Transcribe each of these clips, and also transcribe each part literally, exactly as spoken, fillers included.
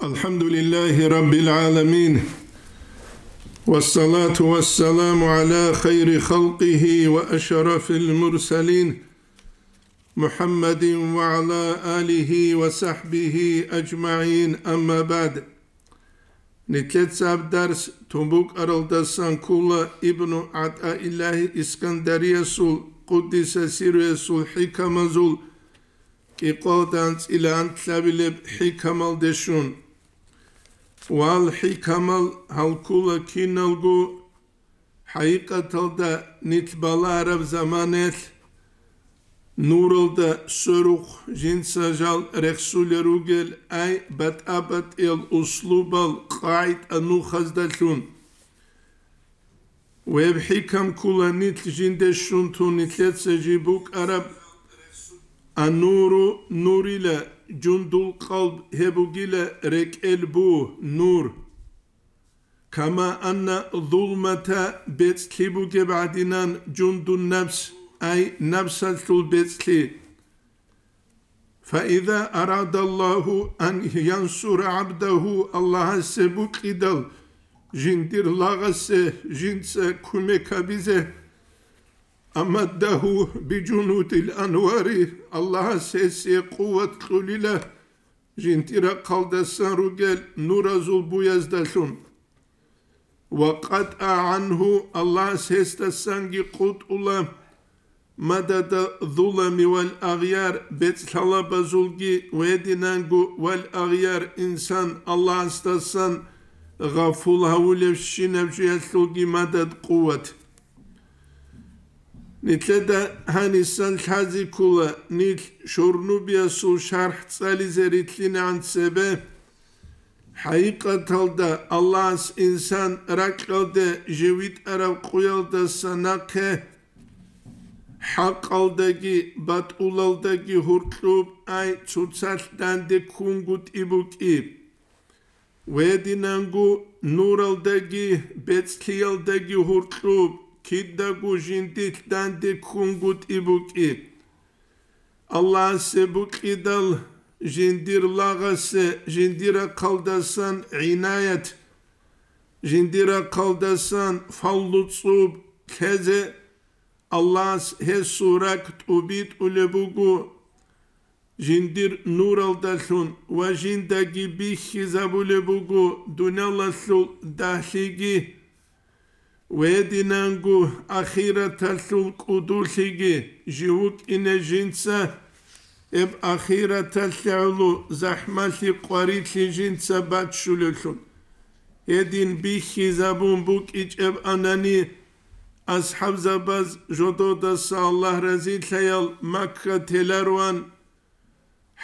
الحمد لله رب العالمين، والصلاة والسلام على خير خلقه وأشرف المرسلين، محمد وعلى آله وصحبه أجمعين، أما بعد. Нилъеца гьаб дарс тун букӀаралдасан ккола Ибну ГӀатаиллагьи Искандариясул, къуддиса сирругьу, хӀикамазул кӀикъоялда анцӀила анлъабилеб хӀикамалде щун. Вал хӀикамал гьал ккола киналго, хӀакъикъаталда нилъ балагьараб заманаялъ нуралда сверухъ жинца жал рехсулел ругел, ай батӀа-батӀиял услубал, къагӀида-нухаздалъун. Гьеб хӀикам ккола нилъ жинде щун тун нилъеца жиб букӀараб: «Аннуру нурила, жундул къалб гьеб бугила рекӀел бу, нур. Кама анна зулмата, бецӀлъи бугеб гӀадинан, жундун напс, ай напсалъул бецӀлъи». Фаиза арада Аллагьу ан янсура гӀабдагьу, Аллагьасе букӀидал жиндир лагъасе жинца кумек гьабизе, амаддагьу бижунудил анвари, Аллагьас гьесие къуват кьулила, жиндир рахъалдасан ругел нуразул буяздалъун. Ва къатӀа гӀангьу, Аллагьас гьесдасанги къутӀула, мадада зулами вал агъяр, бецӀлъалабазулги, гьединанго вал агъяр, инсан Аллагьасдасан гъафул гьавулевщинаб жуялъулги мадад, къуват. Нилъеда гьанисан лъазе ккола нилъ Шурнубиясул шархӀ цӀализе рилълъинегӀан цебе. ХӀакъикъаталда Аллагьас инсан ракьалде жив витӀараб къуялдаса нахъе хӀакъалдаги батӀулалдаги гьуркьуб, ай цоцалъ данде ккунгутӀи букӀи. Гьединанго нуралдаги бецӀлъиялдаги гьуркьуб, кидаго жиндилъ данде ккунгутӀи букӀи. Аллагьасе букӀидал жиндир лагъасе, жиндир рахъалдасан гӀинаят, жиндир рахъалдасан фаллу-цӀуб лъезе, Аллагьас гьесул ракӀ тӀубитӀулеб буго жиндир нуралдалъун ва жиндаги бихьизабулеб буго дуниялалъул дагьлъиги, гьединанго ахираталъул кӀудулъиги. Жив вукӀине жинца гьеб ахираталъе гӀоло захӀмалъи-къварилъи жинца баччулевлъун. Гьедин бихьизабун букӀичӀеб анани, асхӀабзабаз жододаса, Аллагь разилъаял, Макка теларуан,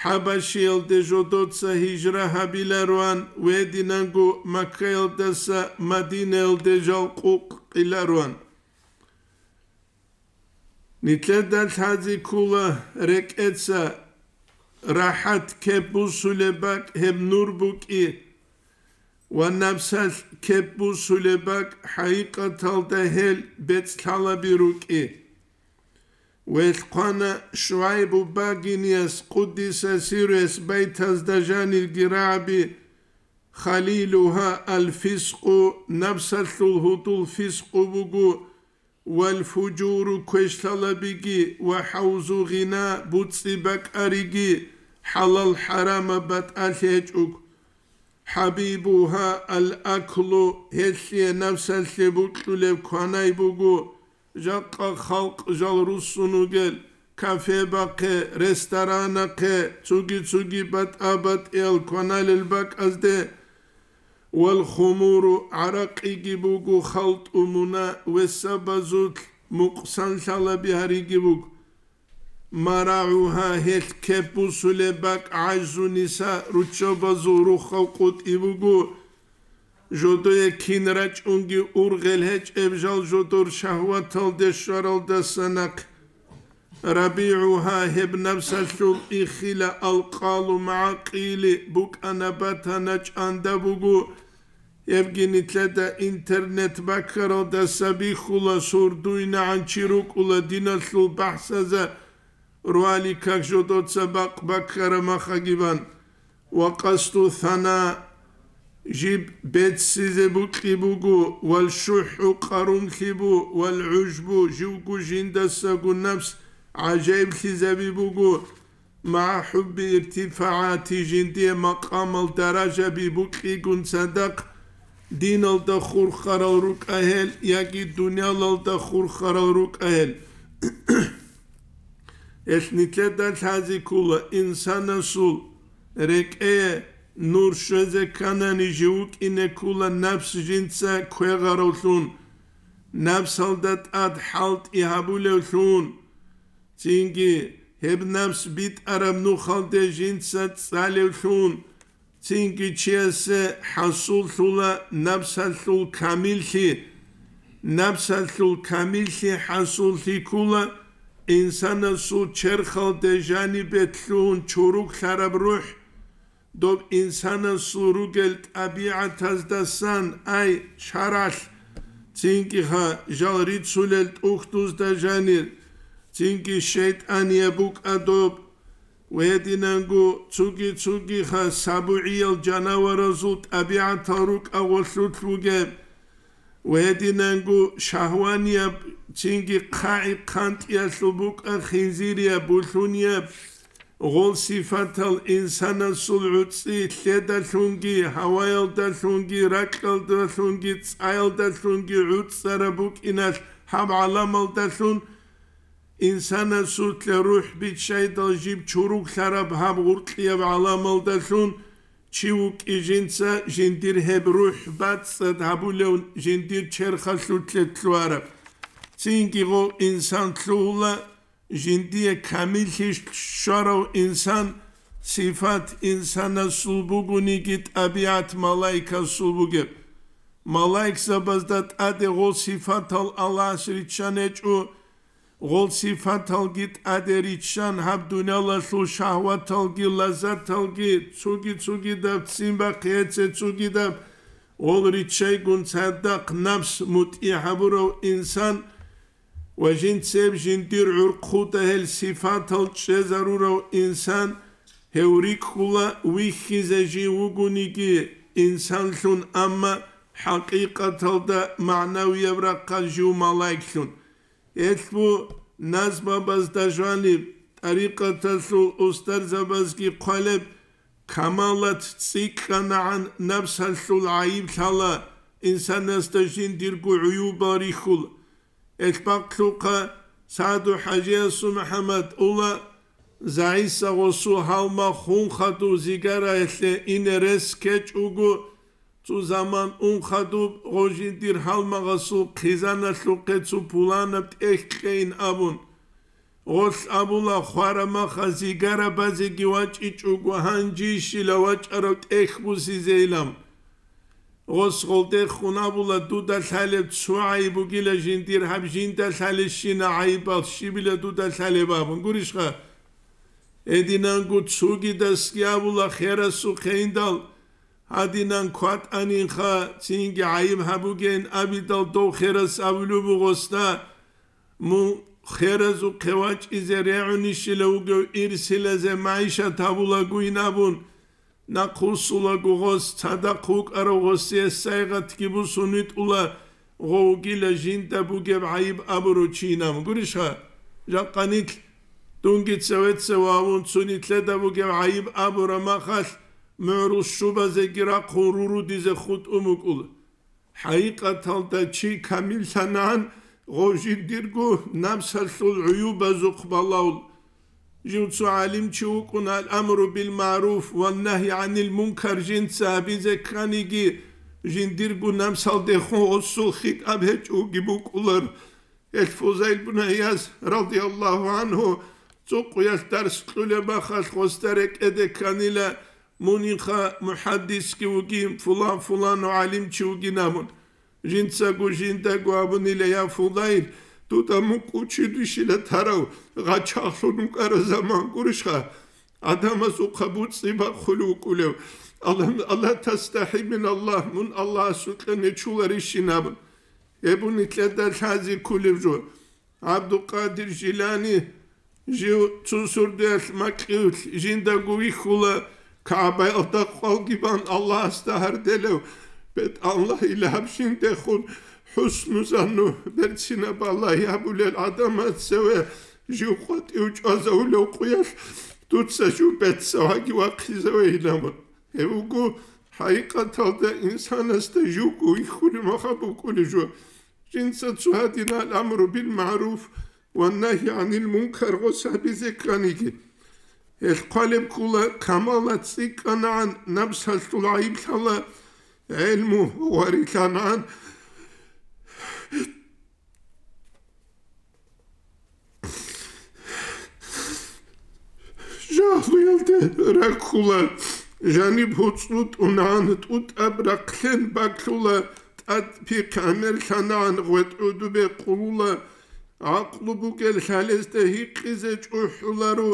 ХӀабашиялде жодоца гьижра гьабиларуан, гьединанго Маккаялдаса Мадинаялде жал къукъкъиларуан. Нилъеда лъазе ккола рекӀеца рахӀат кеп бусулеб бакӀ гьеб нур букӀи ва напсалъ кеп бусулеб бакӀ хӀакъикъаталда гьел бецӀлъалаби рукӀи. Гьелъ хъвана ШугӀайбу багинияс, къуддиса сирругьу, байтазда жанирги рагӀаби: «Халилугьа аль-фискъу, напсалъул гьудул фискъу буго, валь-фужуру, квешлъалабиги, ва хӀавзу гъина, буцӀцӀи бакӀариги, хӀалал-хӀарамаб батӀалъи гьечӀого. ХӀабибугьа аль-аклу, гьелъие напсалъе букьулеб кванай буго, жакъа халкъ жал руссун ругел, кафе бахъе, ресторанахъе, цоги-цоги батӀа-батӀиял кваналел бакӀазде. Валь-хумуру, гӀаракъиги буго халтӀу муна, весабазулъ мукъсанлъалаби гьариги буго. МарагӀугьа, гьелъ кеп бусулеб бакӀ гӀажзу ниса, руччабазул рухъав къутӀи буго. Жодое кин рачӀунги ургъел гьечӀеб жал жодор шагьваталде щваралдаса нахъ. РабигӀугьа, гьеб напсалъул ихила алкъалу магӀакъили букӀана-батана чӀанда буго. Гьебги нилъеда интернет баккаралдаса бихьула, сурдуйнагӀан чи рукӀула диналъул бахӀсаза, роликах жодоца бакъ баккараб махагибан. Ва къасду сана, Жиб беццизе букьи буго, вал шухӀу къарумлъи бу, вал гӀужбу, живго жиндасаго напс гӀажаиблъизаби буго, магӀа хӀубби иртифагӀати, жиндие макъамал даражаби букьигун цадахъ, диналда хурхарал рукӀа гьел яги дуниялалда хурхарал рукӀа гьел. Гьелъ нилъеда лъази ккола инсанасул рекӀее нур щвезе кканани, жив вукӀине ккола напс жинца квегъаравлъун, напсалда тӀад хӀалтӀи гьабулевлъун, цинги гьеб напс битӀараб нухалде жинца цӀалевлъун, цинги чиясе хӀасуллъула напсалъул камиллъи. Напсалъул камиллъи хӀасуллъи ккола инсанасул черхалде жанибе лъугьун чуруклъараб рухӀ, доб инсанасул ругел тӀабигӀатаздасан, ай, шаргӀалъ, цинги ха жал рицулел тӀухьдузда жанир, цинги шайтӀанияб букӀа доб, ва гьединанго цуги-цугиха сабугӀиял жанаваразул тӀабигӀатал рукӀа гъолъулъ бугеб, ва гьединанго шагьванияб, цинги хъагӀи-хъантӀиялъул букӀа хинзирияб, булъунияб, гъол сифатал инсанасул гӀуцӀи лъедалъунги, гьаваялдалъунги, ракьалдалъунги, цӀаялдалъунги гӀуцӀараб букӀиналъ гьаб гӀаламалдалъун, инсанасулъе рухӀ биччайдал жиб чуруглъараб гьаб гъуркьияб гӀаламалдалъун чи вукӀи жинца жиндир гьеб рухӀ бацӀцӀад гьабулев жиндир черхалъулъе лъугьараб. Цинги гъов инсан лъугьула жиндие камиллъи щварав инсан, сифат инсанасул бугониги, тӀабигӀат малаикасул бугеб. Малаикзабазда тӀаде гъол сифатал Аллагьас риччан гьечӀо, гъол сифаталги тӀаде риччан гьаб дуниялалъул шагьваталги лаззаталги цуги-цугидаб ццин бахъиеце цугидаб гъол риччайгун цадахъ напс мутӀигӀ гьабурав инсан ва жинцеб жиндир гӀурхъуда гьел сифатал чӀезарурав инсан, гьев рикӀкӀула вихьизе жив вугониги инсанлъун, амма хӀакъикъаталда магӀнавияб рахъалъ жив малаиклъун. Гьелъ бу назмабазда жаниб, тӀарикъаталъул устарзабазги хъвалеб, камалат цӀикӀкӀанагӀан напсалъул гӀайиб лъала, инсанасда жиндирго гӀуюбал рихьула. Элъбахълъухъа СагӀду ХӀажиясул МухӀаммад ула, ЗагӀиса гъосул гьалмагъ хун хадув зигараялъе ине рес ккечӀого, цо заман ун хадуб гъо жиндир гьалмагъасул хъизаналъухъе цо пуланаб тӀехь кьейин абун. Гъолъ абула, хварамаха зигара базеги вачӀичӀого, гьанжищила вачӀарав тӀехь бусизейилан. Гъос гъолдехун абула, дуда лъалеб цо гӀайиб бугила жиндир, гьаб жинда лъалещина гӀайибал щибила дуда лъалеб абун. Гурищха? Гьединанго цогидасги абула, херасухъе индал, гьадинан кватӀанинха, цинги гӀайиб гьабугейин абидал, дов херас абулеб буго гъосда, мун херазухъе вачӀизе регӀунищила вугев ирсилазе магӀишат гьабулагойин абун, нахъвуссулаго гъос, цадахъ вукӀарав гъосие сайгъатги бусун витӀула, гъов вугила жинда бугеб гӀайиб абурав чи инаб. Гурищха, жакъа нилъ, дунги цеве-цеве вавун цо нилъеда бугеб гӀайиб абураб махалъ, мугӀрул щубазеги рахъун рурудизе хутӀун букӀула. ХӀакъикъаталда чи камиллъанагӀан гъов жиндирго напсалъул гӀуюбазухъ балагьул. Жив цо гӀалимчи вукӀун, ал-амру бил-магӀруф ва нагьи гӀанил мункар жинца гьабизе кканиги, жиндирго напсалдехун гъосул хитӀаб гьечӀоги букӀулар. Гьел Фузайл бун ГӀияз, радияллагьу гӀангьу, цӀукъуялъ дарс кьулеб махалъ гъосда рекӀеде кканила, мунинха мухӀаддисги вугин, фулан-фуланав гӀалимчи вугин абун. Жинцаго жиндаго абунила: «Я Фудайл, дуда мукӀ училищила тарав гъачагълъун вукӀараб заман гурищха, гӀадамазухъа буцӀи бахъулев вукӀулев? Алла, Алла тастахӀи мин Аллагь, мун Аллагьасукьа нечуларищин?» абун. Гьеб нилъеда лъази кколеб жо. ГӀабдулкъадир Жилани жив цо сордоялъ макьилъ жиндаго вихьула, КагӀбаялда къвалги бан Аллагьасда гьарделев, бетӀаллагьила гьаб жиндехун хӀусну-занну берцинаб балагь гьабулел гӀадамаца цеве жив къватӀив чӀвазавулев къуялъ дуца жив бецаваги вахъизавейилан. Гьев вуго хӀакъикъаталда инсанасда живго вихьулеб мехалъ букӀулеб жо. Жинца цо гьадинал амру бил магӀруф ва нагьи гӀанил мункар гъос гьабизе кканиги. Гьелъ хъвалеб ккола, камалат цӀикӀкӀанагӀан, напсалъул гӀайиблъала гӀелму гъварилъанагӀан, жагьлуялде раккула, жаниб гьуцӀру тӀунагӀан тӀутӀаб рахълъен баклъула, тӀад пихъ гӀемерлъанагӀан гъветӀ гӀудубе къулула, гӀакълу бугел лъалезда гьикъизе чӀухӀуларо,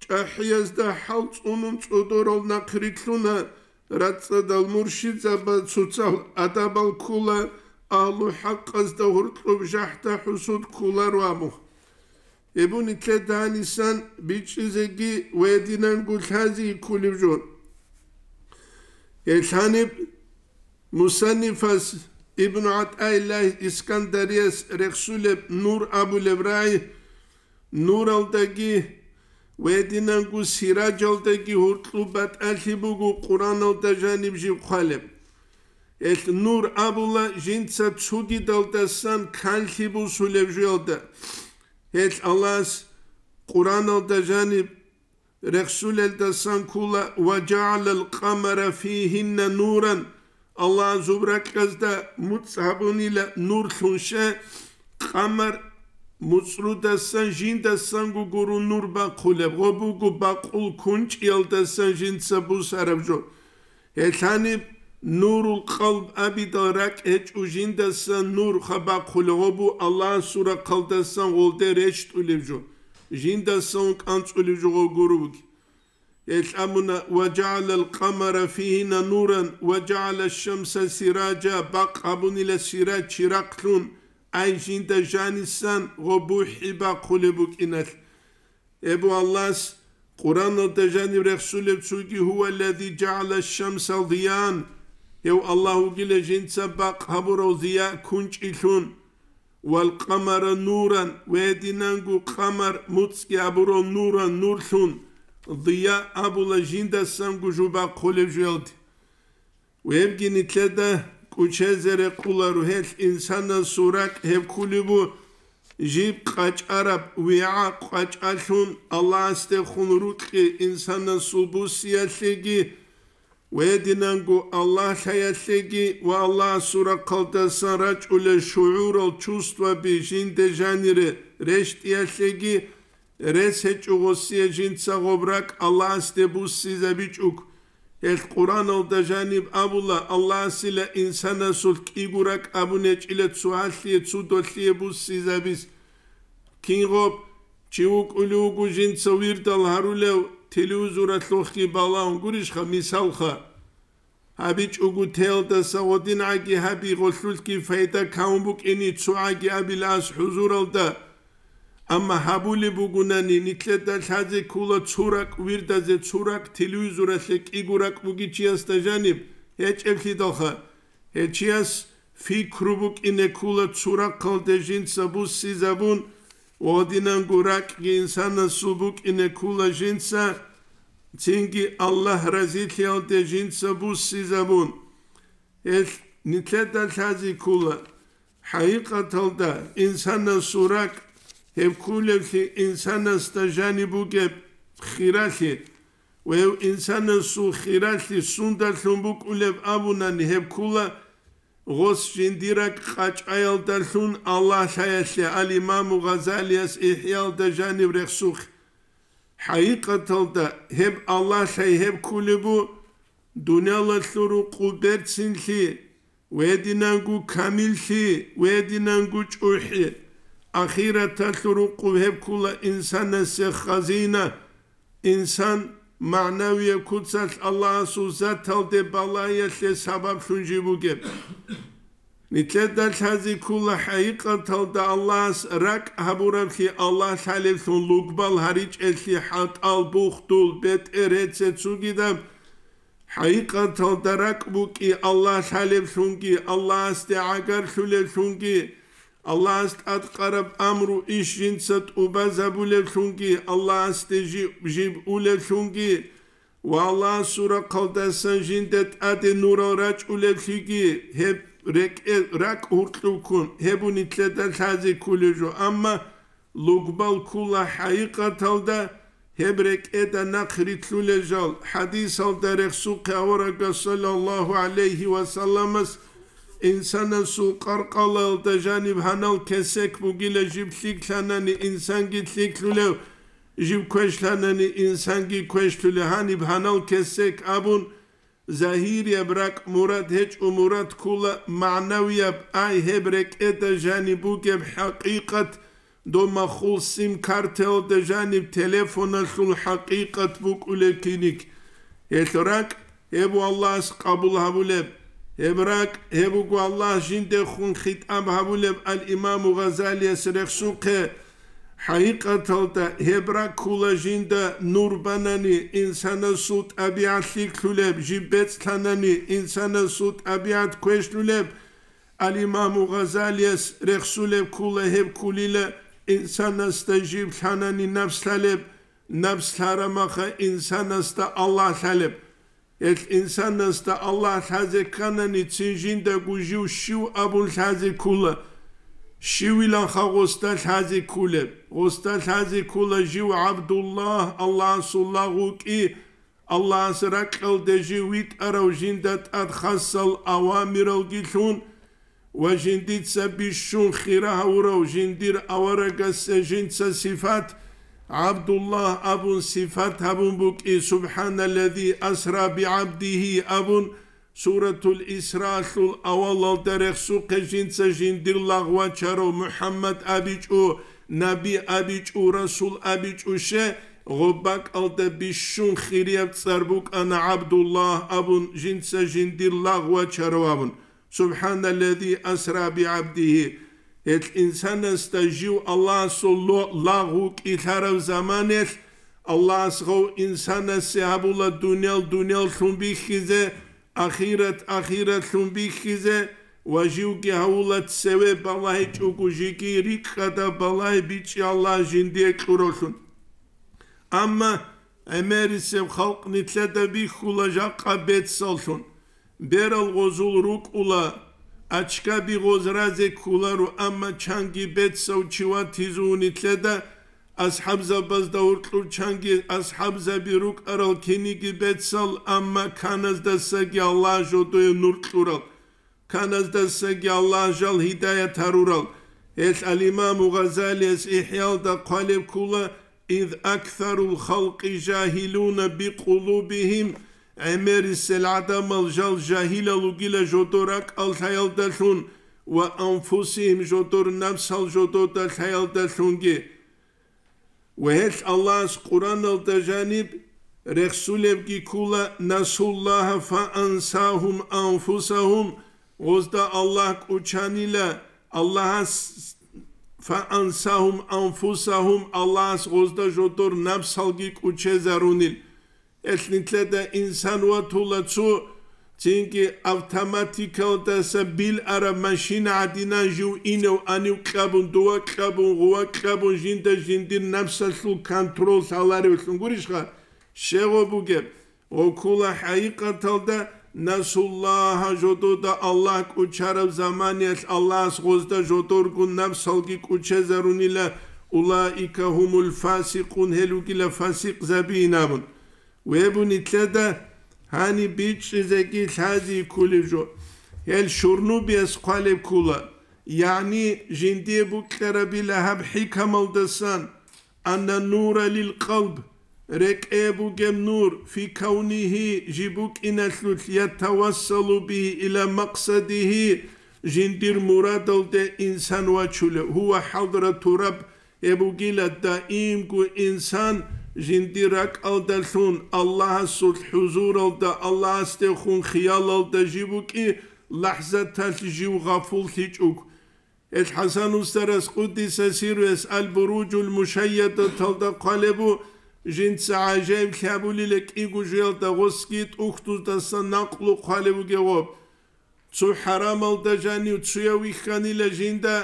чӀахӀиязда хӀал цӀунун цӀодорал нахърилълъуна, рацӀцӀадал муршидзаба цоцал адабал ккула, агьлу хӀакъазда гьоркьоб жахӀда-хӀусуд ккуларо абу. Гьеб нилъеда гьанисан бичӀчӀизеги ва гьединанго лъази кколеб жо. Гьелъ гьаниб мусаннифас Ибну ГӀатӀаиллагь Искандарияс рехсулеб Нур абулеб рагӀи, нуралдаги ва гьединанго сираджалдаги гьоркьоб батӀалъи буго Къуръаналда жаниб жиб хъвалеб. Гьелъ нур абула жинца цогидалдасан канлъи бусулеб жоялда. Гьелъ Аллагьас Къуръаналда жаниб рехсулелдасан ккола: «Ва жагӀалал къамара фигьинна нуран», Аллагь зоб ракьазда муцӀ гьабунила нурлъун, щай къамар муцӀрудасан жиндасанго гуро нур бахъулеб, гъо буго бакъул кунчӀиялдасан жинца бусараб жо. Гьелъ гьаниб нурул къалб абидал ракӀ гьечӀо жиндасан нур хабахъулеб, гъо бу Аллагьасул рахъалдасан гъолде рещтӀулеб жо, жиндасан кӀанцӀулеб жо гъо гуро буги. Гьелъ абуна: «Ва жагӀалал къамара фигьина нуран, ва жагӀала шамса сираджа», бакъ гьабунила сираж чирахълъун, ай жинда жанисан гъо бухӀи бахъулеб букӀиналъ. Эбу Аллагьас Къуръаналда жаниб рехсулеб цоги: «Гьува аллази жагӀала шамса зияан», гьев Аллагь вугила жинца бакъ гьабурав зия кунчӀилъун, «вал къамара нуран», ва гьединанго къамар муцӀги абурав нуран нурлъун, дия абула жиндасанго жо бахъулеб жоялде. Вебги нилъеда кӀучезе рекъуларо гьелъ инсанасул ракӀ гьеб кколеб бу, жиб къачӀараб вигӀа къачӀалъун Аллагьасдехун рукьи инсанасул буссиялъеги, ва гьединанго Аллагь лъаялъеги ва Аллагьасул рахъалдасан рачӀулел шугӀурал чувстваби жинде жанире рещтӀиялъеги, рес гьечӀо гъосие жинца гъоб ракӀ Аллагьасде буссизабичӀого. Гьелъ Къуръаналда жаниб абула, Аллагьасила инсанасул кӀиго ракӀ абун гьечӀила цо гьалъие, цо долъие буссизабиз. Кин гъоб чи вукӀулев вуго жинца вирдал гьарулев, телевизоралъухъги балагьун гурищха, мисалха. ГьабичӀого теялдаса гъодин гӀаги гьаби, гъолъулъги пайда кавун букӀини цо гӀаги абила ас хӀузуралда. Амма гьабулеб бугунани, нилъеда лъазе ккола цо ракӀ вирдазе, цо ракӀ телевизоралъе кӀиго ракӀ бугичиясда жаниб гьечӀеблъидалха. Гьечияс пикру букӀине ккола цо рахъалде жинца буссизабун, гъодинанго ракӀги инсанасул букӀине ккола жинца, цинги Аллагь разилъиялде жинца буссизабун. Гьелъ нилъеда лъази ккола, хӀакъикъаталда инсанасул ракӀ гьеб кколеблъи инсанасда жаниб бугеб хиралъи, ва гьев инсанасул хиралъи сундалъун букӀулеб абунани гьеб ккола, гъос жиндир ракӀ къачӀаялдалъун Аллагь лъаялъе, ал-Имаму Гъазалияс ИхӀяалда жаниб рехсухъ. ХӀакъикъаталда гьеб Аллагь лъай гьеб кколеб бу, дуниялалъул рукъу берцинлъи, гьединанго камиллъи, гьединанго чӀухӀи. Ахираталъул рукъу гьеб ккола инсанасе хазина, инсан магӀнавияб куцалъ Аллагьасул заталде балагьиялъе сабаблъун жиб бугеб. Нилъеда лъази ккола хӀакъикъаталда Аллагьас ракӀ гьабураблъи, Аллагь лъалеблъун лугбал гьаричӀеллъи, хӀатӀал, бухдул, бетӀер, гьеце цугидаб ХӀакъикъаталда ракӀ букӀи Аллагь лъалеблъунги, Аллагьасде гӀагарлъулеблъунги, Аллагьас тӀадкъараб амру иш жинца тӀубазабулеблъунги, Аллагьасде жи-, жиб улеблъунги ва Аллагьасул рахъалдасан жинда тӀаде нурал рачӀулеблъиги, гьеб рекӀе-, ракӀ гьуркьубккун гьеб нилъеда лъазе кколеб жо. Амма лугбал ккула хӀакъикъаталда гьеб рекӀеда нахърилълъулел жал. ХӀадисалда рехсухъе аварагас саллаллагьу гӀалайгьи ва салламас: «Инсанасул къаркъалаялда жаниб гьанал кесек бугила жиб лъикӀлъанани инсанги лъикӀлъулев, жиб квешлъанани инсанги квешлъулев гьаниб гьанал кесек», – абун, загьирияб ракӀ мурад гьечӀо, мурад ккула магӀнавияб, ай гьеб рекӀеда жаниб бугеб хӀакъикъат, доб махул сим-картаялда жаниб телефоналъул хӀакъикъат букӀулеб киник. Гьелъ ракӀ гьеб Аллагьас къабул гьабулеб. Гьеб ракӀ гьеб буго Аллагь жиндехун хитӀаб гьабулеб ал-Имаму Гъазалияс рехсухъе. ХӀакъикъаталда гьеб ракӀ ккула жинда нур банани, инсанасул тӀабигӀат лъикӀлъулеб, жиб бецӀлъанани, инсанасул тӀабигӀат квешлъулеб. Ал-Имаму Гъазалияс рехсулеб ккула гьеб ккулила инсанасда жиб лъанани напс лъалеб, напс лъарамаха инсанасда Аллагь лъалеб. Гьелъ инсанасда Аллагь лъазе кканани, цин жиндаго жив щив абун лъазе ккула. Щивиланха гъосда лъазе ккулеб? Гъосда лъазе ккула жив ГӀабдуллагь, Аллагьасул лагъ вукӀи, Аллагьас ракьалде жив витӀарав, жинда тӀад хасал авамиралги лъун, ва жиндица бищун хира гьавурав жиндир аварагасда жинца сифат, ГӀабдуллагь абун сифат гьабун букӀи, «СубхӀаналлази асра бигӀабдигьи» абун, Суратул Исраалъул авалалда рехсухъе жинца жиндир лагъ вачарав МухӀаммад абичӀо, наби абичӀо, расул абичӀо, ще, гъоб бакӀалда бищун хирияб цӀар букӀана ГӀабдуллагь абун, жинца жиндир лагъ вачарав абун. «СубхӀаналлази асра бигӀабдигьи». Гьелъ инсанасда жив Аллагьасул ло-, лагъ вукӀи лъарав заманаялъ, Аллагьас гъов инсанасе гьабула дуниял дунияллъун бихьизе, ахират ахиратлъун бихьизе, ва живги гьавула цеве балагьичӀого жеги рикӀкӀада балагьи бичӀчӀи Аллагь жиндие кьуравлъун. Амма гӀемерисеб халкъ нилъеда бихьула жакъа бецаллъун. Берал гъозул рукӀула, ачкаби гъоз разе кколаро, амма чанги бецав чи ватизун нилъеда, асхӀабзабазда гьоркьор чанги асхӀабзаби рукӀарал киниги бецал, амма каназдасаги Аллагь жодое нур кьурал, каназдасаги Аллагь жал гьидаят гьарурал. Гьелъ ал-Имаму Гъазалияс ИхӀялда хъвалеб ккула: «Из аксарул халкъи жагьилуна бикъулубигьим», гӀемерисел гӀадамал жал жагьилал ругила жодор ракӀал лъаялдалъун ва анфусигьим жодор напсал жодода лъаялдалъунги. Ва гьелъ Аллагьас Къураналда жаниб рехсулебги ккула: «Насуллагьа фаансагьум анфусагьум», гъозда Аллагь кӀучанила, Аллагьас, «фаансагьум анфусагьум», Аллагьас гъозда жодор напсалги кӀучезарунил. Гьелъ нилъеда инсан ватула цо, цинги автоматикалдаса бил араб машина гӀадинан жив инев анив кьабун, дова кьабун, гъува кьабун, жинда жиндир напсалъул контрол лъаларевлъун гурищха? Щегъо бугеб, гъокула хӀакъикъаталда насуллагьа жодода Аллагь кӀучараб заманиялъ Аллагьас гъозда жодоргун напсалги кӀучезарунила, улаика гьумул фасикъун, гьел ругила фасикъзабиин абун. Вебу нилъеда гьаниб бичӀчӀизеги лъази ккулеб жо. Гьел Шурнубияс хъвалеб ккула, ягӀни жиндие букьарабила гьаб хӀикамалдасан: «Анна нура лил къалб», рекӀее бугеб нур, «фи кавнигьи», жиб букӀиналъулъ, «ятавассалу бигьи ила макъсадигьи», жиндир мурадалде инсан вачулев, «гьува хӀадрату раб», гьеб бугила даимго инсан жиндир ракӀалдалъун Аллагьасул хӀузуралда, Аллагьасдехун хиялалда жиб букӀи, лахӀзаталъ жив гъафуллъичӀого. Гьел ХӀасан устарас, къуддиса сирругьу, Ал-Буруджул Мушайядаталда хъвалебу: Жинца гӀажаиблъи гьабулила кӀиго жоялда гъосги тӀухьдуздасан накълу хъвалев вугев гъоб. Цо хӀарамалда жанив цуяв вихьанила жинда,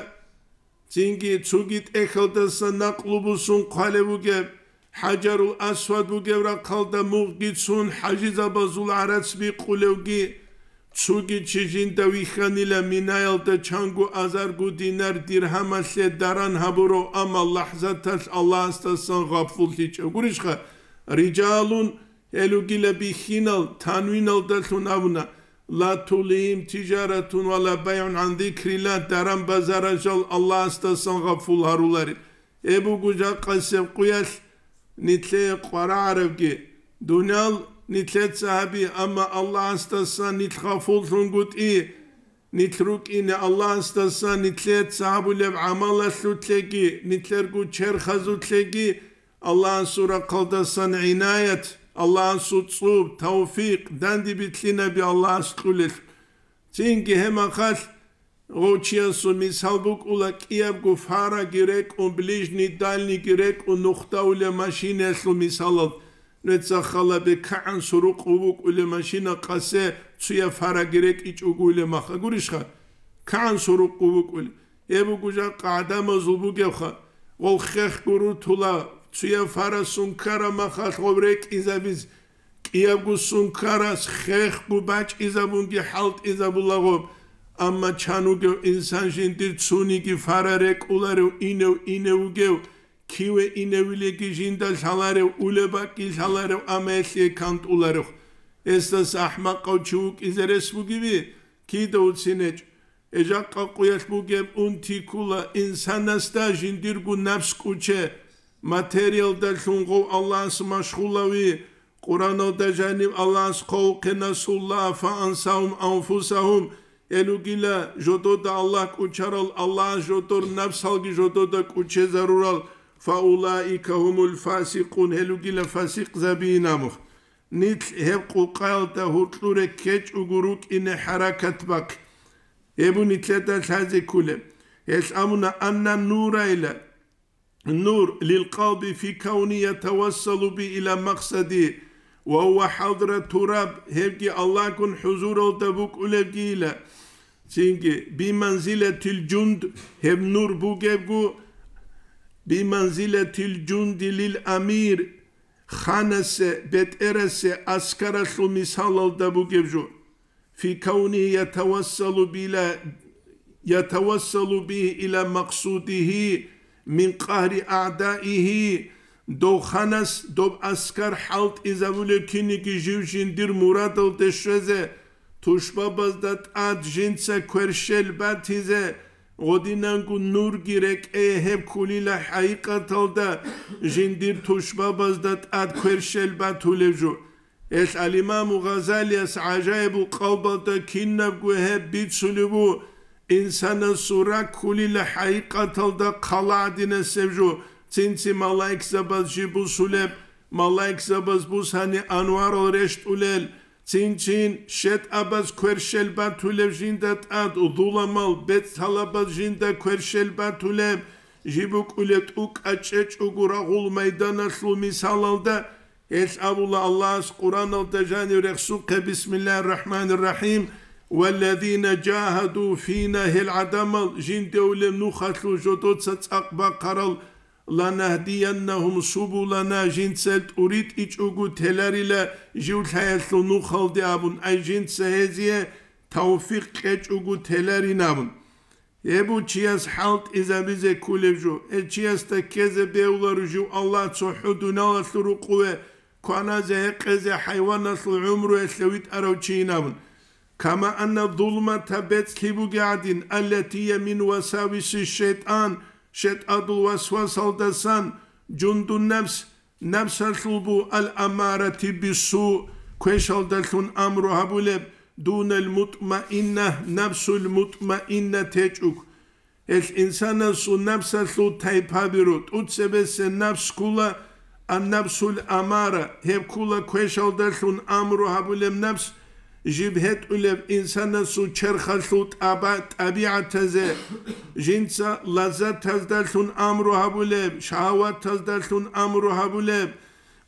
цинги цоги тӀехьалдаса накълу бусун хъвалев вугеб, ХӀажарул Асвад бугев рахъалда мугъги цун хӀажизабазул гӀарац бикъулевги, цоги чи жинда вихьанила Минаялда чанго азарго динар-диргьамалъе даран гьабурав, амма лахӀзаталъ Аллагьасдасан гъафуллъичӀев. Гурищха, рижалун, гьел ругила бихьинал, танвиналдалъун абуна: «Ла тулгьигьим тижаратун ва ла байгӀун гӀан зикрилла», даран базарал жал Аллагьасдасан гъафул гьаруларел. Гьеб буго жакъасеб къуялъ нилъее къварагӀарабги, дуниял нилъеца гьаби, амма Аллагьасдасан нилъ гъафуллъунгутӀи, нилъ рукӀине Аллагьасдасан нилъеца гьабулеб гӀамалалъулъеги, нилъерго черхазулъеги Аллагьасул рахъалдасан гӀинаят, Аллагьасул цӀуб, тавфикъ, данде билълъинаби Аллагьас кьулелъул. Цинги гьеб махалъ гъов чиясул мисал букӀула, кӀиябго фараги рекӀун, ближний дальнийги рекӀун, нухда улеб машинаялъул мисалал. Нуца хала бекагӀан сурукъ букӀулеб машина къасе цуяб фараги рекӀичӀого улеб маха гурищха? КагӀан сурукъ букӀулеб. Гьеб буго жакъа гӀадамазул бугебха. Гъол хехго рутула, цуяб фарасун ккараб махалъ гъов рекӀизабиз, кӀиябго сункарас хехго бачӀизабунги хӀалтӀизабулаго, амма чан вугев инсан жиндир цуниги фара рекӀуларев, инев инев вугев, киве иневилеги жинда лъаларев, улеб бакӀги лъаларев, амма гьелъие кантӀуларев. Гьесдаса ахӀмакъав чи вукӀизе рес бугеви? Кида уцинечӀ. Гьеб жакъа къуялъ бугеб унти ккула инсанасда жиндирго напс кӀуче, материялдалъун гъов Аллагьас машгъулави, Къураналда жанив Аллагьас хъвавухъе: «Насуллагьа фаансагьум анфусагьум», гьел ругила жодода Аллагь кӀучарал, Аллагьас жодор напсалги жодода кӀучезарурал, «фаулаика гьумул фасикъун», гьел ругила фасикъзабиин абун. Нилъ гьеб къукъаялда гьуркьуре ккечӀого рукӀине хӀаракат бахъе. Гьеб нилъеда лъазе кколеб. Гьелъ абуна: «Анна нурайла, нур лил къалби фи кавни ятавассалу би ила макъсади, ва гьува хӀадра тураб», гьебги Аллагьгун хӀузуралда букӀулебгийила. Цинги, «би манзилатил жунд», гьеб нур бугебго, «би манзилатил жунди лил амир», ханасе, бетӀерасе аскаралъул мисалалда бугеб жо. «Фи кавнигьи ятавассалу била, ятавассалу бигьи ила макъсудигьи мин къагьри аъдаигьи», дов ханас, доб аскар хӀалтӀизабулев киниги жив жиндир мурадалде щвезе, тушбабазда тӀад жинца кверщел батизе, гъодинанго нурги рекӀее гьеб кколила хӀакъикъаталда жиндир тушбабазда тӀад кверщел батулев жо. Гьелъ ал-Имаму Гъазалияс гӀажаибул къалбалда кинабго гьеб бицулев ву, инсанасул ракӀ кколила хӀакъикъаталда хъала гӀадинасеб жо, цинци малаикзабаз жиб бусулеб, малаикзабаз бусани анварал рещтӀулел, цин-чин шетӀабаз кверщел батулев жинда тӀад, зуламал бецӀлъалабаз жинда кверщел батулеб, жиб букӀулеб тӀукӀа чӀечӀого рагъул майданалъул мисалалда, гьелъ абула Аллагьас Къураналда жанив рехсухъе: «Бисмиллагьир рахӀманир рахӀим, валлазина жагьаду фина», гьел гӀадамал жинде улеб нухалъул жодоца цӀакъ бахъарал, «ланагьдияннагьум субулана», жинца тӀуритӀичӀого теларила жив лъаялъул нухалде абун, ай жинца гьезие тавфикъ кьечӀого теларин абун. Гьеб чияс хӀалтӀизабизе кколеб жо, гьев чиясда ккезе бегьуларо жив Аллагь цохӀо дуниялалъул рукъуве кваназе гьекъезе хӀайваналъул гӀумруялъе витӀарав чийин абун. Кама анна зулмата бецӀлъи бугеб гӀадин, аллатия мин васависи шайтӀан, шайтӀадул васвасалдасан, жундун напс, напсалъул бу ал-амарати биссу, квешалдалъун амру гьабулеб, дунал мутмаинна, напсул мутмаинна течӀуг. Гьелъ инсанасул напсалъул тайпаби ру, тӀуцебесеб напс ккула, ан-напсул амара, гьеб ккула квешалдалъун амру гьабулеб напс, жиб гьетӀулеб инсанасул черхалъул тӀаба-, тӀабигӀатазе, жинца лаззатаздалъун амру гьабулеб, шагьаватаздалъун амру гьабулеб,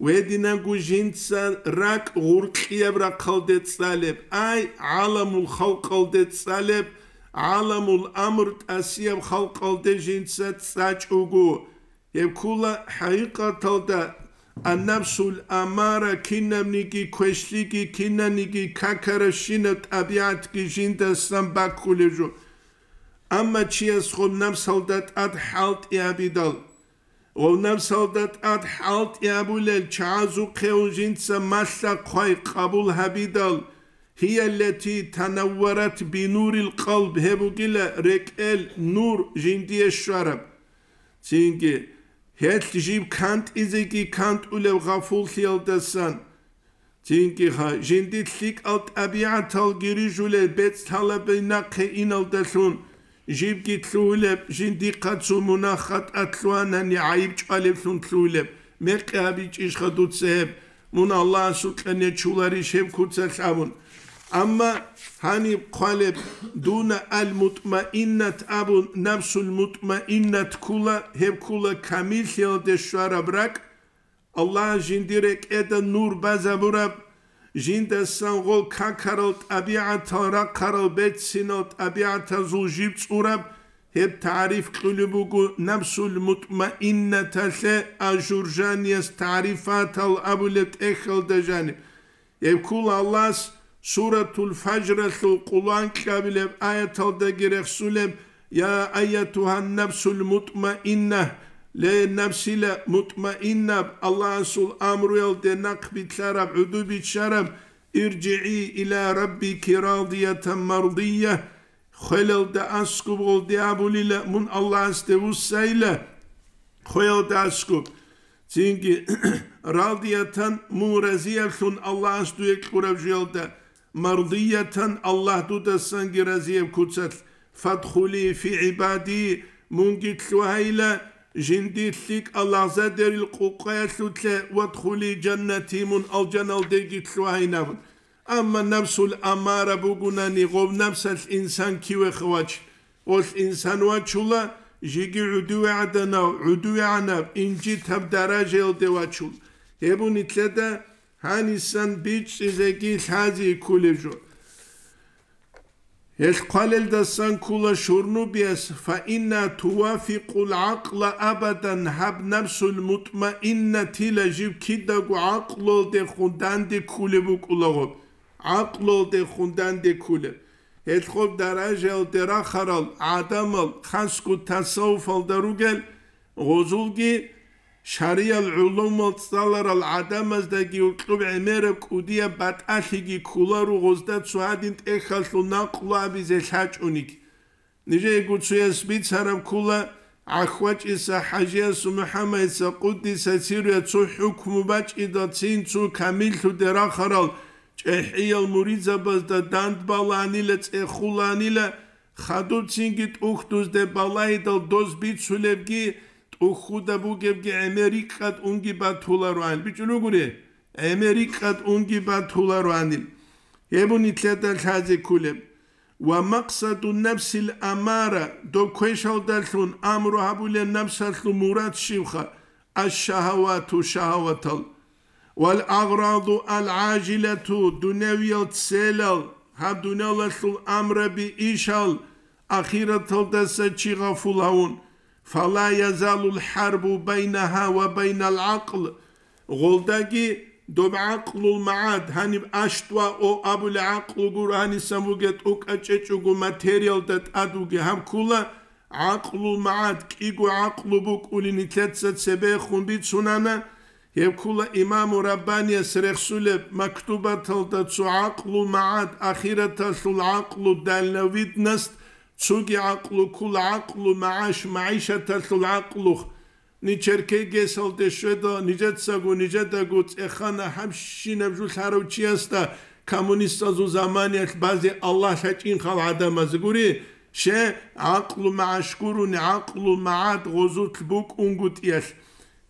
Гьединабго жинца ракӀ гъуркьияб рахъалде цӀалеб, ай, гӀаламул халкъалде цӀалеб, гӀаламул амр тӀасияб халкъалде жинца цӀачӀого, гьеб ккола хӀакъикъаталда аннафсул амара, кинабниги квешлъиги, кинаниги какарабщинаб тӀабигӀатги жиндасан баккулеб жо. Амма чияс гъоб напсалда тӀад хӀалтӀи гьабидал, гъов напсалда тӀад хӀалтӀи гьабулел чагӀазухъе ун жинца малъа-хъвай къабул гьабидал, гьияллати танавварат бинурил къалб, гьеб бугила рекӀел нур жиндие щвараб. Цинги, гьелъ жиб кантӀизеги кантӀулеб гъафуллъиялдасан. Цинги-ха, жиндир лъикӀал тӀабигӀаталги рижулел бецӀ лъалаби нахъе иналдалъун, жибги лъугьулеб, жиндихъа цо мунагь-хатӀа лъугьанани гӀайиб чӀвалеблъун лъугьулеб, мекъи гьабичӀищха дуца гьеб, мун Аллагьасукьа нечуларищ гьеб куцалъ абун. Амма гьаниб хъвалеб, дуна ал-мутмаиннат абун, напсул-мутмаиннат ккула, гьеб ккула камиллъиялде щвараб ракӀ, Аллагь жиндир рекӀеда нур базабураб, жиндасан гъол какарал тӀабигӀатал рахъарал берцинал тӀабигӀатазул жиб цӀураб, гьеб тагӀриф кьулеб буго напсул мутмаиннаталъе, а Журжанияс тагӀрифатал абулеб тӀехьалда жаниб. Гьеб ккола Аллагьас Суратул Фажралъул къуланкьабилеб аяталдаги рехсулеб: «Я айятугьан нафсул мутмаинна», ле, нафсила мутмаиннаб, Аллагьасул амруялде нахъ билълъараб, гӀуду биччараб, «иржигӀи иля раббики радиятан мардия», хвелалда аскӀуб гъолде абулила, мун Аллагьасде вуссайила, хвелалда аскӀуб. Цинги радиятан, мун разияблъун Аллагьас дуе кьураб жоялда, мардиятан, Аллагь дудасанги разияб куцалъ, «фадхули фи гӀибади», мунги лъугьайила жиндир лъикӀал лагъзадерил къукъаялъулъе, «вадхули жаннати», мун алжаналдеги лъугьайин абун. Амма нафсул амара бугунани, гъов нафсалъ инсан кивеха вач. Гъолъ инсан вачула, жеги гӀудуве гӀаданав, гӀудувегӀанаб, инжитаб даражаялде вачул. Гьеб нилъеда гьанисан бичӀчӀизеги лъази ккулеб жо. Гьелъ хъвалелдасан ккула шурнубияс: «Фаинна тувафикъул гӀакъла абадан», гьаб нафсул мутмаиннатила жиб кидаго гӀакълуялдехун данде ккулеб букӀулаго, гӀакълуялдехун данде ккулеб. Гьелъ гъоб даражаялде рахарал гӀадамал, хасго тасаввуфалда ругел, гъозулги шариял гӀулумал цӀаларал гӀадамаздаги гьоркьоб гӀемераб кӀудияб батӀалъиги кколаро гъозда цо гьадин тӀехьалъул накълу абизе лъачӀониги. Нижеего цояс бицараб ккола, ГӀахьвачӀиса ХӀажиясул МухӀаммадица, къуддиса сирругьу, цо хӀукму бачӀидал цин цо камиллъуде рахарал чӀехӀиял муридзабазда дандбаланила, цӀехуланила, хадуб цинги тӀухьдузде балагьидал доз бицулебги, тӀухьуда бугебги гӀемер рикӀкӀад унги батулароан. БичӀун ругури, гӀемер рикӀкӀад унги батулароанил. Гьеб нилъеда лъазе ккулеб. «Ва макъсаду нафсил амара», доб квешалдалъун амру гьабулел напсалъул мурад щибха? Аш-шагьавату, шагьаватал. «Вал агъраду ал-гӀажилату», дунявиял целал, гьаб дуниялалъул амраби ишал, ахираталдаса чи гъафул гьавун. «Фала язалул хӀарбу байнагьа ва байнал гӀакъл». Гъолдаги доб гӀакълул магӀад, гьаниб аштӀва о абулеб гӀакълу гуро, гьанисан бугеб тӀокӀаб чӀечӀого материалда тӀад вугеб, гьаб ккола гӀакълул магӀад, кӀиго гӀакълу букӀуни нилъеца цебехун бицунана, гьеб ккола Имаму Раббанияс рехсулеб мактубаталда цо гӀакълул магӀад, ахираталъул гӀакълу, дальновидность, цоги гӀакълу ккола гӀакълу магӀаш, магӀишаталъул гӀакълу. Ниж Черкегесалде щведал, нижецаго, нижедаго цӀехана гьабщинаб жо лъарав чиясда коммунистазул заманиялъ базе Аллагь лъачӀин хал гӀадамаз гури, ще гӀакълу магӀаш гурони, гӀакълу магӀад гъозулъ букӀунгутӀиялъ.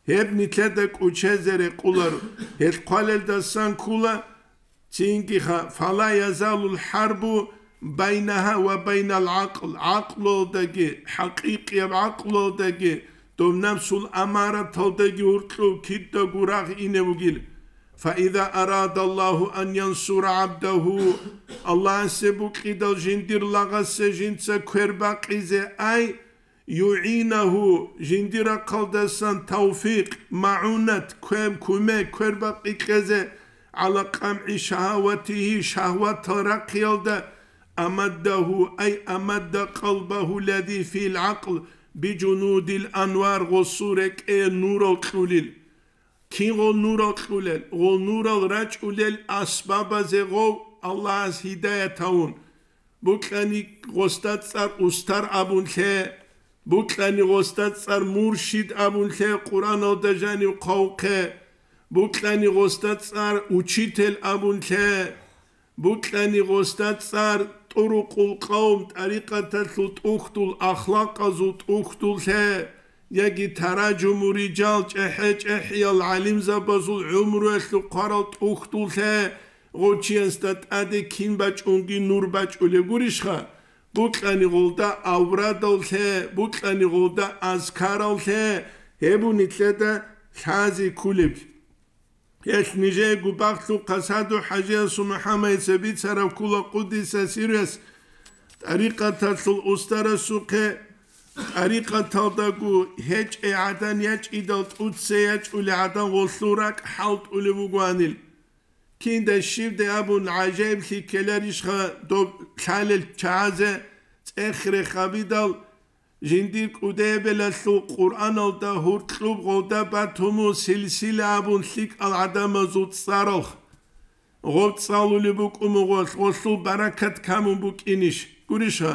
Гьеб нилъеда кӀучезе рекъоларо. Гьелъ хъвалелдасан ккола, цинги ха, «Фала язалул хӀарбу байнагьа ва байнал гӀакъл», гӀакълуялдаги, хӀакъикъияб гӀакълуялдаги, доб напсул амараталдаги гьуркьуб кидаго рагъ ине вугил. Фаиза арада Аллагьу ан янсура гӀабдагьу, Аллагьасе букӀидал жиндир лагъасе жинца квербакъизе ай, югӀинагьу, жиндир рахъалдасан тавфикъ, магӀунат, квем, кумек, квербакъи кьезе, гӀала къамгӀи шагьаватигьи, шагьватал рахъиялда, амаддагьу, ай амадда къалбагьу лази фил гӀакъл, бижунудил анвар, гъосул рекӀее нурал кьулил. Кин гъол нурал кьулел? Гъол нурал рачӀулел асбабазе гъов Аллагьас гьидаят гьавун. Букьани гъосда цӀар устар абун лъе, букьани гъосда цӀар муршид абун лъе Къуръаналда жанив хъавухъе, букьани гъосда цӀар учитель абун лъе, букьани гъосда цӀар тӀурукъул къавм, тӀарикъаталъул тӀухьдул, ахлакъазул тӀухьдул лъе, яги таражуму риджал, чӀехӀе-чӀехӀиял гӀалимзабазул гӀумруялъул хъварал тӀухьдул лъе, гъов чиясда тӀаде кин бачӀунги нур бачӀулеб гурищха? Букьани гъолда аврадал лъе, букьани гъолда азкарал лъе, гьеб нилъеда лъази кколеб. Гьелъ нижеего багълъухъа Саду-хӀажиясул МухӀаммадица бицараб ккола, къуддиса сирругьу, тӀарикъаталъул устарасухъе, тӀарикъаталдаго гьечӀей гӀадан ячӀидал тӀуццей ячӀулей гӀадан гъолъул ракӀ хӀалтӀулев вугоанил. Кинда щибде абун гӀажаиблъи ккеларищха доб лъалел чагӀазе цӀех-рех гьабидал, жиндир кӀудияб белалъул Къуръаналда гьуркьуб гъолда батуму силсила абун лъикӀал гӀадамазул цӀаралъ. Гъоб цӀалулеб букӀун мугъолъ, гъолъул баракат камун букӀинищ? Гурищха?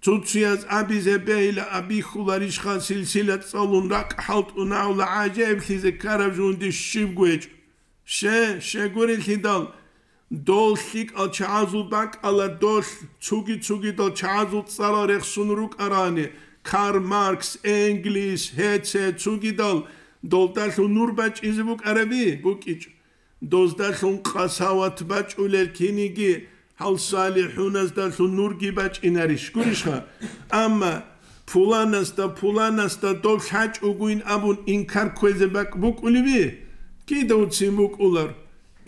Цуцуяз абизе бегьила абихьуларищха силсила цӀалун ракӀ хӀалтӀунагьула гӀажаиблъизе ккараб жугьунде щибго гьечӀо. Ще, щегурелъидал, дол лъикӀал чагӀазул бакӀала долъ цуги-цугидал чагӀазул цӀарал рехсун рукӀарани, Карл Маркс, Энгельс, гьеце цугидал долдалъун нур бачӀизе букӀараби? БукӀичӀо. Доздалъун къасават бачӀулел киниги гьал салихӀуназдалъун нурги бачӀинарищ? Гурищха? Амма пуланасда, пуланасда доб лъачӀогойин абун инкар кквезе бакӀ букӀулеби? Кидавцин букӀулар.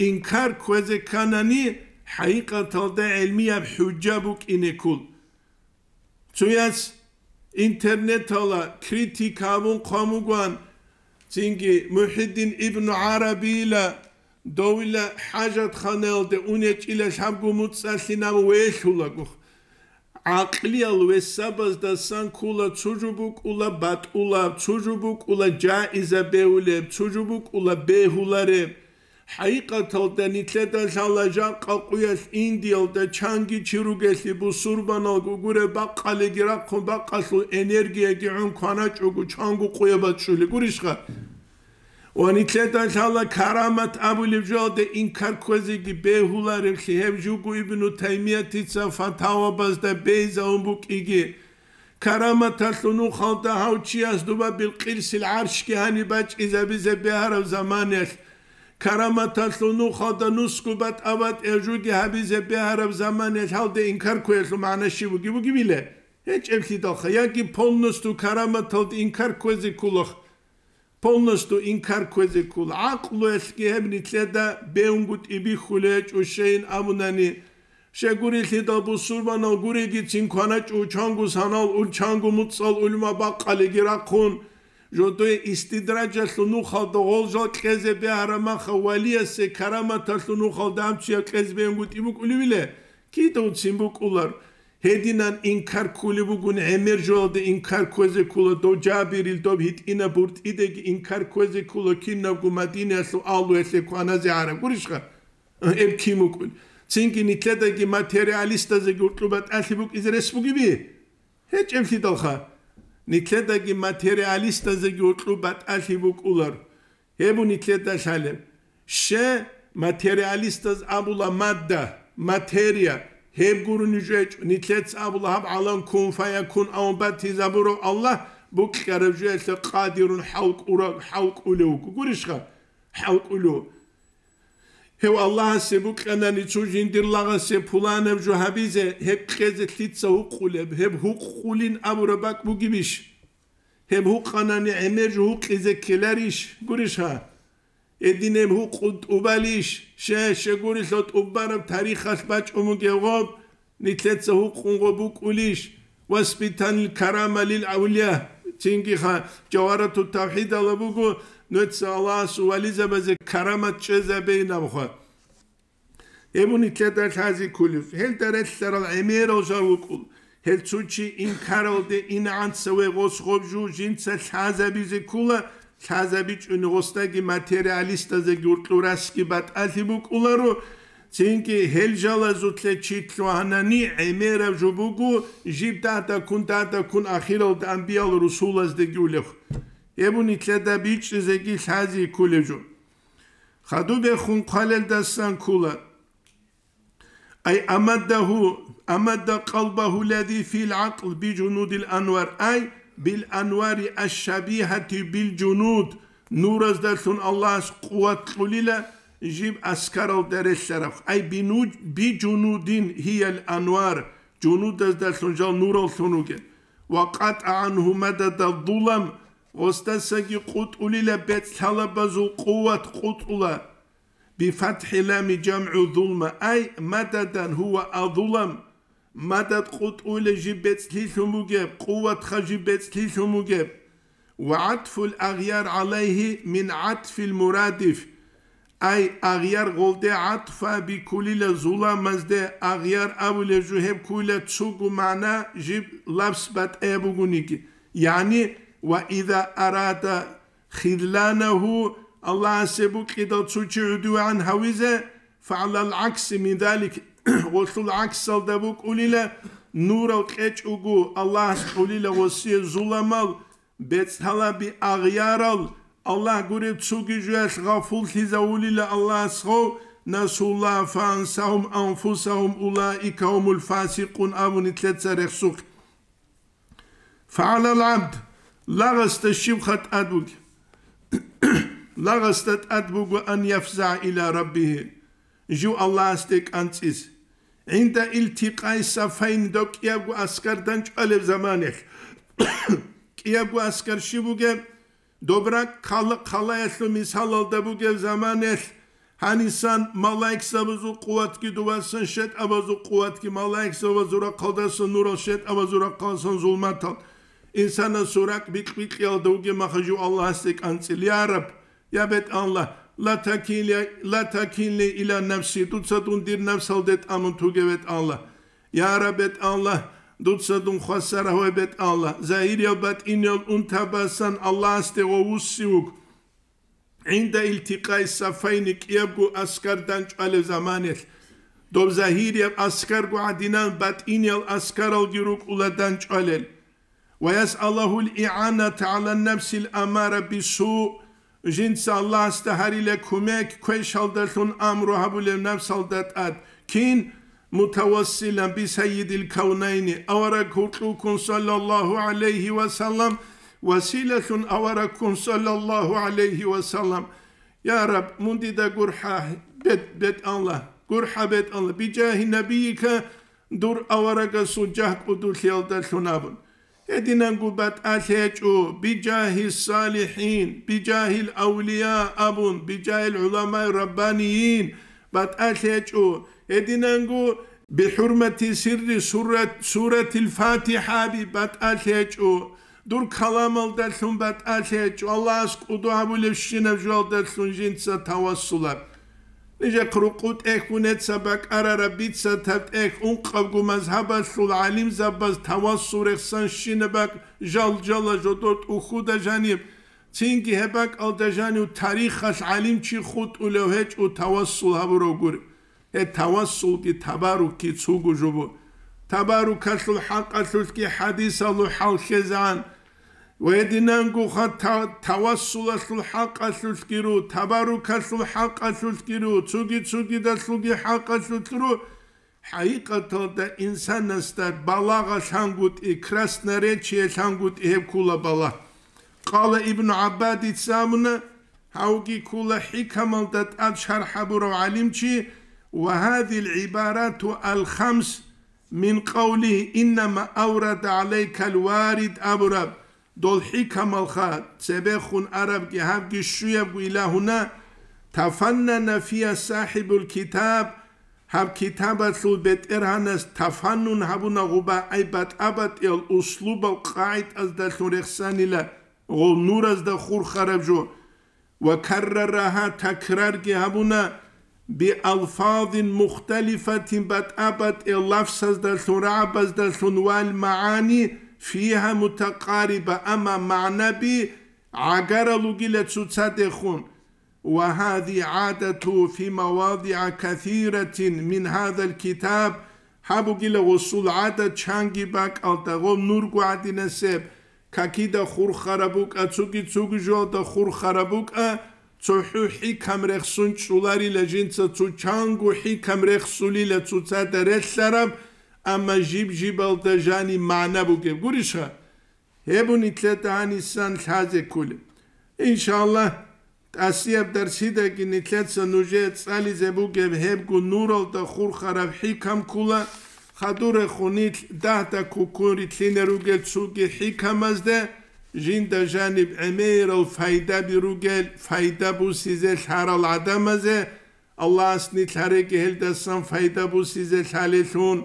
Инкар кквезе кканани, хӀакъикъаталда гӀелмияб хӀужа букӀине ккол. Цояс интернетала критика гьабун хъван бугоан, цинги МухӀиддин ибну ГӀарабийила довила хӀажатханаялде ун гьечӀила лъабго муцӀалъинаб велъулаго. ГӀакълиял весабаздасан ккола цо жо букӀула батӀулаб, цо жо букӀула жаиза бевулеб, цо жо букӀула бегьулареб. ХӀакъикъаталда нилъеда лъала жакъа къуялъ Индиялда чанги чи ругелъи бусурбаналго гуреб бакъалиги рахъун бакъалъул энергияги гӀун кваначӀого чанго къуя бачӀулеб гурищха? Ва нилъеда лъала карамат абулеб жоялде инкар кквезеги бегьулареблъи гьеб жуго Ибну Таймиятица фатавабазда бейзавун букӀиги. Караматалъул нухалда гьав чияс дуба билкъирсил гӀаршги гьаниб бачӀизабизе бегьараб заманаялъ, караматалъул нухалда нусго батӀа-батӀияб жуги гьабизе бегьараб заманаялъ гьалде инкар кквеялъул магӀна щиб буги бугебила? ГьечӀеблъидалха, яги полностью караматалде инкар кквезе кколах. Полностью инкар кквезе ккола. ГӀакълуялъги гьеб нилъеда бегьунгутӀи бихьулей гьечӀо, щейин абунани, щегурелъидал бусурбанал гурегицин кваначӀо, чанго санал ул, чанго муцӀал улма бакъалиги рахъун, жодое истидраджалъул нухалда гъол жал кьезе бегьараб маха валиясе караматалъул нухалда гьаб чияв кьезе бегьунгутӀи букӀулевила? Кидавцин букӀулар. Гьединан инкар ккулеб бугун гӀемер жоялде инкар кквезе ккула, дов Жабирил, доб гьитӀинаб буртӀидаги инкар кквезе ккула, кинабго Мадинаялъул агьлуялъе кваназе гӀараб гурищха? Гьеб кин букӀун? Цинги нилъедаги материалистазеги гьоркьоб батӀалъи букӀизе рес бугеби? ГьечӀеблъидалха. Нилъедаги материалистазеги гьоркьоб батӀалъи букӀулар. Гьеб нилъеда лъалеб. Ще материалистаз абула мадда, материя, гьеб гурони жо гьечӀо. Нилъеца абула гьаб гӀалам кун фаякун авун батизабурав Аллагь букьараб жоялъе къадирун хӀалкӀура-, хӀалкӀулев вуго. Гурищха? ХӀалкӀулев. Гьев Аллагьасе букьанани цо жиндир лагъасе пуланаб жо гьабизе, гьеб кьезе лъица гьукъулеб, гьеб гьукъулин абураб бакӀ бугебищ? Гьеб гьукъанани гӀемер жо гьукъизе ккеларищ? Гурищ гьа? Гьединаб гьукъун тӀубалищ? Щай, щай гурелъул тӀубараб тарихалъ бачӀун бугеб гъоб, нилъеца гьукъун гъоб букӀулищ? Васпитанил карама лил авлия. Цинги ха, Жавгьарату тавхӀидала буго, нуца Аллагьасул вализабазе карамат чӀезабейинабха. Гьеб нилъеда лъази кколев, гьелда релълъарал гӀемерал жал вукӀул, гьел цо чи инкаралде инегӀанца ве гъос гъоб жо жинца лъазабизе ккола, лъазабичӀони гъосдаги материалистазеги уркьурасги батӀалъи букӀуларо, цинги гьел жалазулъе чи лъугьанани гӀемераб жо буго, жиб дагьдаккун, дагьдаккун ахиралда анбиял русулаздеги улев. Гьеб нилъеда бичӀчӀизеги лъази кколев жо. Хадубехун хъвалелдасан ккола. Ай амаддагьу, амадда къалбагьу лази фил гӀакъл би жунудил анвар, ай бил анвари аш-шабигьати бил жунуд, нураздалъун Аллагьас къуват кьулила жиб аскаралда релълъараб, ай бинуд-, би жунудин гьиял анвар, жунудаздалъун жал нураллъун ругел, ва къатӀа гӀангьу мадада зулам, гъосдасаги къутӀулила бецӀлъалабазул къуват къутӀула. БифатхӀи лами жамгӀу зулма, ай, мададан гьува азулам, мадад къутӀула жиб бецӀлъилъун бугеб, къуватха жиб бецӀлъилъун бугеб. Ва гӀатфул агъяр гӀалайгьи мин гӀатфил мурадиф, ай, агъяр гъолде гӀатфа биккулила зуламазде, агъяр абулеб жо гьеб ккула цугу магӀна жиб лапс батӀаяб бугониги, яни, ва иза арада хизланагьу, Аллагьасе букӀидал цо чи гӀудувгӀан гьавизе, фагӀлал гӀакси мин залик, гъолъул гӀаксалда букӀулила, нурал кьечӀого Аллагьас кьулила гъосие зуламал, бецӀлъалаби агъярал, Аллагь гуреб цуги жуялъ гъафуллъизавулила Аллагьас гъов, насулла фаансагьум анфусагьум улаика гьумул фасикъун абуни лъеца рехсухъ. ФагӀалал гӀабд, лагъасда щибха тӀад бугеб? Лагъасда тӀад буго ан яфзагӀа иля раббигьи, жив Аллагьасде кӀанцӀиз. ГӀинда илтикъай сафайни, дов кӀиябго аскар данчӀвалеб заманелъ. КӀиябго аскар щиб бугеб? Доб ракӀ хъала-, хъалаялъул мисалалда бугеб заманелъ, гьанисан малаикзабазул къуватги дувасан шетӀабазул къуватги, малаикзабазул рахъалдасан нурал, шетӀабазул рахъалдасан зулматал. Инсанасул ракӀ бикь-бикьиялда вугеб маха жив Аллагьасде кӀанцӀил: «Я Раб, я БетӀаллагь, ла такилни, ла такилни иля нафси, дуца дун дир напсалде тӀамун туге, БетӀаллагь». Я Раб, БетӀаллагь, дуца дун хвасар гьаве, БетӀаллагь, загьириял батӀиниял унтабасан Аллагьасде гъов вуссив вуго. ГӀинда илтикъай сафайни, кӀиябго аскар данчӀвалеб заманелъ, доб загьирияб аскарго гӀадинан батӀиниял аскаралги рукӀула данчӀвалел. Ва ясъалагьул игӀаната гӀала нафсил амара бису, жинца Аллагьасда гьарила кумек, квешалдалъун амру гьабулев напсалда тӀад. Кин? Мутавассилан би саййидил кавнайни, авараг гьуркьулккун, саллаллагьу гӀалайгьи ва саллам, василалъун аварагккун, саллаллагьу гӀалайгьи ва саллам. Я Раб, мун дида гурхӀа, бет-, БетӀаллагь, гурхӀа, БетӀаллагь, бижагьи набийика, дур аварагасул жагь кӀудулъиялдалъун абун. Гьединанго батӀалъи гьечӀо, бижагьи салихӀин, бижагьил авлия абун, бижагьил гӀуламаи раббанийин батӀалъи гьечӀо. Гьединанго бихӀурмати сирри сурат-, суратил ФатихӀаби батӀалъи гьечӀо. Дур каламалдалъун батӀалъи гьечӀо, Аллагьас кӀуду гьабулебщинаб жоялдалъун жинца тавассулаб. Нижехъ рукъу тӀехьун гьеца бакӀарараб бицатаб тӀехь ункъабго мазгьабалъул гӀалимзабаз тавассул рехсан щинаб бакӀ жал-жала жодор тӀухьуда жаниб, цинги гьеб бакӀалда жанив тарихалъ гӀалимчи хутӀулев гьечӀо тавассул гьабурав гури. Гьеб тавассулги табаррукги цугу жубу. Табаррукалъул хӀакъалъулъги хӀадисалъул хӀал лъезегӀан. Ва гьединангоха та-, тавассулалъул хӀакъалъулъгиру, табаррукалъул хӀакъалъулъгиру, цуги-цугидалъулги хӀакъалъулъгиру, хӀакъикъаталда инсанасда балагъа лъангутӀи, красноречие лъангутӀи гьеб ккула балагь. Къала Ибну ГӀаббадица абуна, гьавги ккула хӀикамалда тӀад шархӀ гьабурав гӀалимчи: «Ва гьадил гӀибарату ал-хамс мин къавлигьи, иннама аврада гӀалайкал варид», абураб, дол хӀикамалха цебехун арабги гьабги щуябго илагьуна, тафаннана фия сахибул китаб, гьаб китабалъул бетӀергьанас тафаннун гьабуна гъуба, ай батӀа-батӀиял услубал къагӀидаздалъун рехсанила гъов нуразда хурхараб жо, ва каррараха такрарги гьабуна, биалфазин мухталифатин батӀа-батӀиял лафсаздалъун, рагӀабаздалъун, вал магӀани фиха мутакъариба, амма магӀнаби гӀагарал ругила цоцадехун. Ва гьази гӀадату фи мавадигӀа касиратин мин гьазал китаб, гьаб бугила гъусул гӀадат чанги бакӀалда гъоб нурго гӀадинасеб, какида хурхараб букӀа, цуги-цуги жоялда хурхараб букӀа, цохӀо хӀикам рехсун чӀоларила жинца, цо чанго хӀикам рехсулила цоцада релълъараб, амма жиб-жибалда жаниб магӀна бугеб. Гурищха? Гьебун нилъеда гьанисан лъазе кколеб. Иншаллагь, тӀасияб дарсидаги нилъеца нужее цӀализе бугеб гьебго нуралда хурхараб хӀикам ккола, хадурехун нилъ дагьда ккуккун рилълъине ругел цоги хӀикамазде, жинда жаниб гӀемерал пайдаби ругел, пайда бусизе лъарал гӀадамазе, Аллагьас нилъ гьареги гьелдасан пайда бусизе лъалелъун.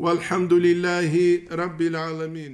ВалхӀамдулиллагьи раббил гӀаламин.